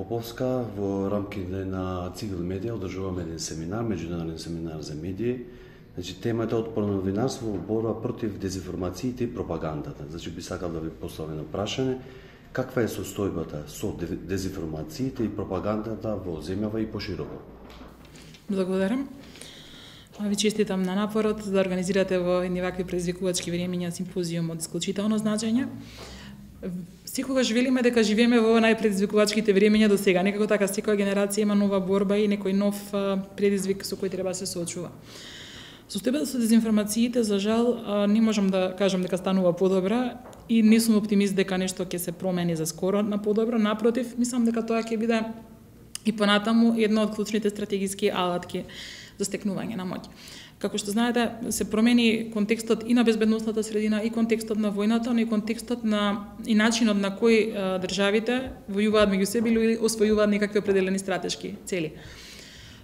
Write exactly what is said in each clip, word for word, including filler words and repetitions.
Поповска, во рамките на Цигл Медија одржуваме еден семинар, меѓународен семинар за медии. Значи, темата е отпорно новинарство во борба против дезинформациите и пропагандата. Значи, би сакал да ви поставам едно прашање. Каква е состојбата со дезинформациите и пропагандата во земјава и пошироко? Благодарам. Ви честитам на напорот да организирате во едни вакви предизвикувачки времиња симпозиум од исклучително значење. Секогаш велиме дека живееме во најпредизвикувачките времиња до сега. Некако така секоја генерација има нова борба и некој нов предизвик со кој треба да се соочува. Состојбата со дезинформациите, за жал, не можам да кажам дека станува подобра и не сум оптимист дека нешто ќе се промени за скоро на подобро. Напротив, мислам дека тоа ќе биде и понатаму една од клучните стратегиски алатки за стекнување на моќ. Како што знаете, се промени контекстот и на безбедносната средина, и контекстот на војната, но и контекстот на и начинот на кој а, државите војуваат меѓу себе или освојуваат некакви определени стратешки цели.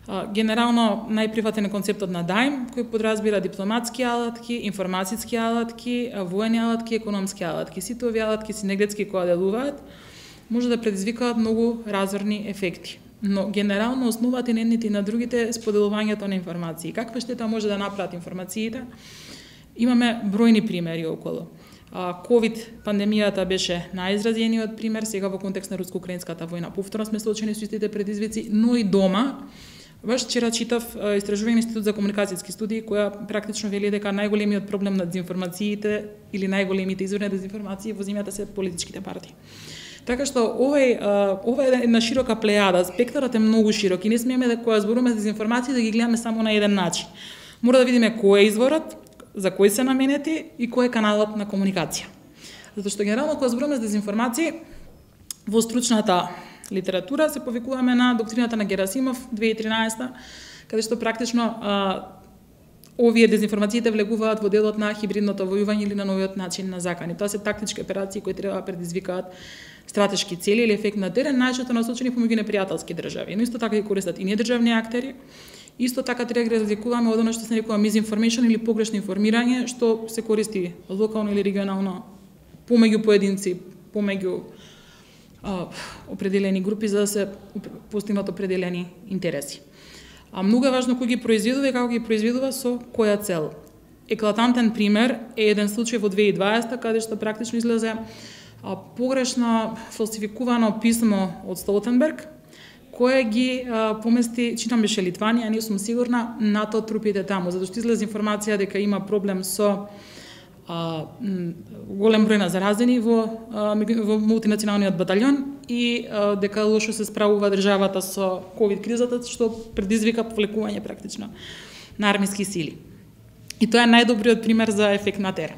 А, генерално најприватен е концептот на дајм, кој подразбира дипломатски алатки, информацијски алатки, воени алатки, економски алатки. Сите овие алатки синергетски кои делуваат, може да предизвикаат многу разорни ефекти. Но генерално основата на едните и на другите е споделувањето на информации. Каква штета може да направат информациите? Имаме бројни примери околу. ковид пандемијата беше најизразениот пример, сега во контекст на руско-украинската војна. Повторно сме соочени со истите предизвици, но и дома. Баш вчера читав истражување на Институт за комуникацијски студии, која практично вели дека најголемиот проблем на дезинформациите или најголемите извори на дезинформации во земјата се политичките партии. Така што овој ова е една широка плејада, спектарот е многу широк и не смееме да кога зборуваме за дезинформации да ги гледаме само на еден начин. Мора да видиме кој е изворот, за кој се наменети и кој е каналот на комуникација. Затоа што генерално кога зборуваме за дезинформации во стручната литература се повикуваме на доктрината на Герасимов две тисачи и тринаесета, каде што практично а, овие дезинформациите влегуваат во делот на хибридното војување или на новиот начин на закани. Тоа се тактички операции кои треба да предизвикаат стратешки цели или ефект на терен, најчесто насочени помеѓу непријателски држави. Но исто така ги користат и недржавни актери. Исто така треба да разликуваме од она што се нарекува misinformation или погрешно информирање, што се користи локално или регионално помеѓу поединци, помеѓу а, определени групи за да се постигнат определени интереси. А многу е важно кој ги произведува и како ги произведува со која цел. Еклатантен пример е еден случај во две тисачи и дваесета каде што практично излезе а, погрешно фалсификувано писмо од Столтенберг кое ги а, помести, читам беше Литванија, не сум сигурна, НАТО трупите таму, затоа што излезе информација дека има проблем со а, голем број на заразени во, а, во мултинационалниот батальон и а, дека лошо се справува државата со ковид кризата, што предизвика повлекување практично на армиски сили. И тоа е најдобриот пример за ефект на терен.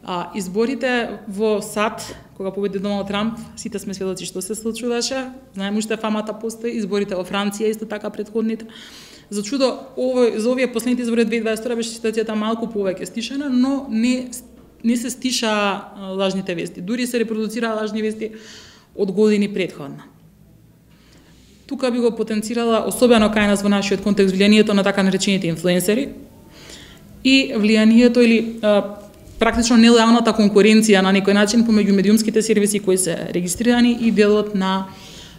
А, изборите во САД, кога победи Доналд Трамп, сите сме сведоци што се случуваше, знаеме уште фамата постои, изборите во Франција исто така претходните. За чудо, овој, за овие последните избори две тисачи и дваесета втора беше ситуацијата малку повеќе стишена, но не, не се стиша лажните вести. Дури се репродуцираа лажни вести од години претходно. Тука би го потенцирала, особено кај нас во нашиот контекст, влијанието на така наречените инфлуенсери и влијанието или а, практично нелојалната конкуренција на некој начин помеѓу медиумските сервиси кои се регистрирани и делот на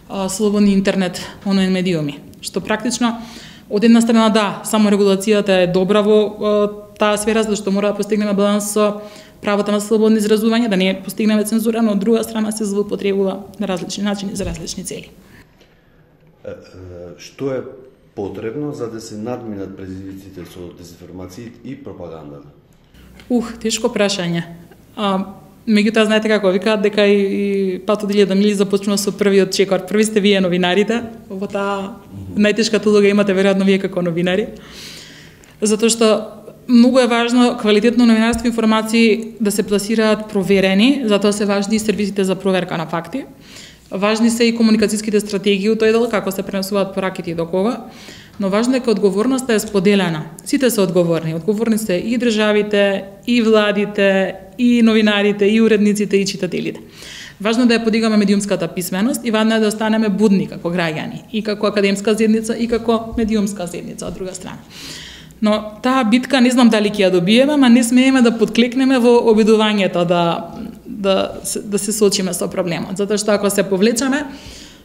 а, слободни интернет онлайн медиуми. Што практично од една страна да, само регулацијата е добра во а, таа сфера, зашто мора да постигнеме баланс со правото на слободно изразување, да не постигнеме цензура, но од друга страна се злоупотребува на различни начини за различни цели. Што е потребно за да се надминат предизвиците со дезинформации и пропагандата? Ух, тешко прашање. А, меѓутоа, знаете како викаат дека и, и патот илјада мили започнува со првиот чекор. Први сте вие новинарите, во таа најтешката улога имате веројатно вие како новинари. Затоа што многу е важно квалитетно новинарство и информации да се пласираат проверени, затоа се важни и сервисите за проверка на факти. Важни се и комуникацијските стратегии у тој дел, како се пренесуваат пораките и до кога, но важно е дека одговорноста е споделена. Сите се одговорни. Одговорни се и државите, и владите, и новинарите, и уредниците, и читателите. Важно е да ја подигаме медиумската писменост и важно е да останеме будни како граѓани, и како академска заедница, и како медиумска заедница од друга страна. Но таа битка не знам дали ќе ја добиеме, ама не смееме да подклекнеме во обидувањето да да да се соочиме со проблемот, затоа што ако се повлечеме,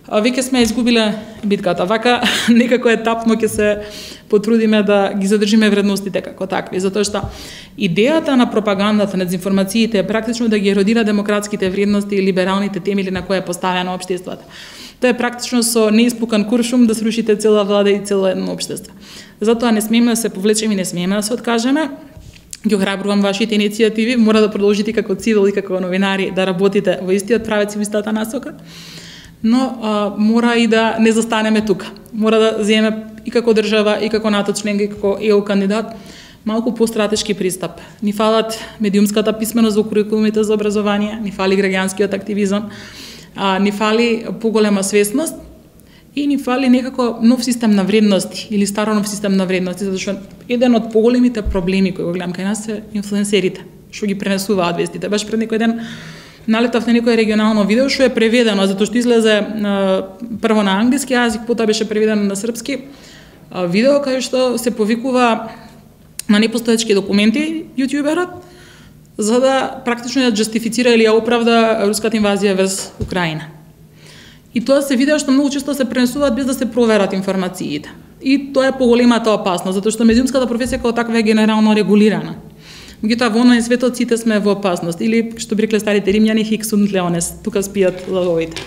а веќе сме изгубиле битката. Вака некако етапно ќе се потрудиме да ги задржиме вредностите како такви, затоа што идејата на пропагандата, на дезинформациите е практично да ги еродира демократските вредности и либералните темели на кои е поставено општеството. Тоа е практично со неиспукан куршум да срушите цела влада и цело едно општество. Затоа не смееме да се повлечеме, не смееме да се откажеме. Ги охрабрувам вашите иницијативи, мора да продолжите како цивил и како новинари да работите во истиот правец и во истата насока. Но а, мора и да не застанеме тука. Мора да земеме и како држава, и како НАТО членка, и како Е У кандидат, малку постратешки пристап. Ни фалат медиумската писменост во курикулумите за образование, ни фали граѓанскиот активизам, а, ни фали поголема свесност и ни фали некако нов систем на вредности или старо нов систем на вредности, затоа што еден од поголемите проблеми кои го гледам кај нас се инфлуенсерите, што ги пренесуваат вестите. Баш пред некој ден налетав на некој регионално видео што е преведено, затоа што излезе а, прво на англиски јазик, потоа беше преведено на српски. А, видео кај што се повикува на непостоечки документи јутјуберот за да практично ја џастифицира или ја оправда руската инвазија врз Украина. И тоа се видео што многу често се пренесуваат без да се проверат информациите. И тоа е поголемата опасност, затоа што медиумската професија како таква е генерално регулирана. Меѓутоа во онлайн светот сите сме во опасност или што би рекле старите римјани хик sunt leones, тука спијат лавовите.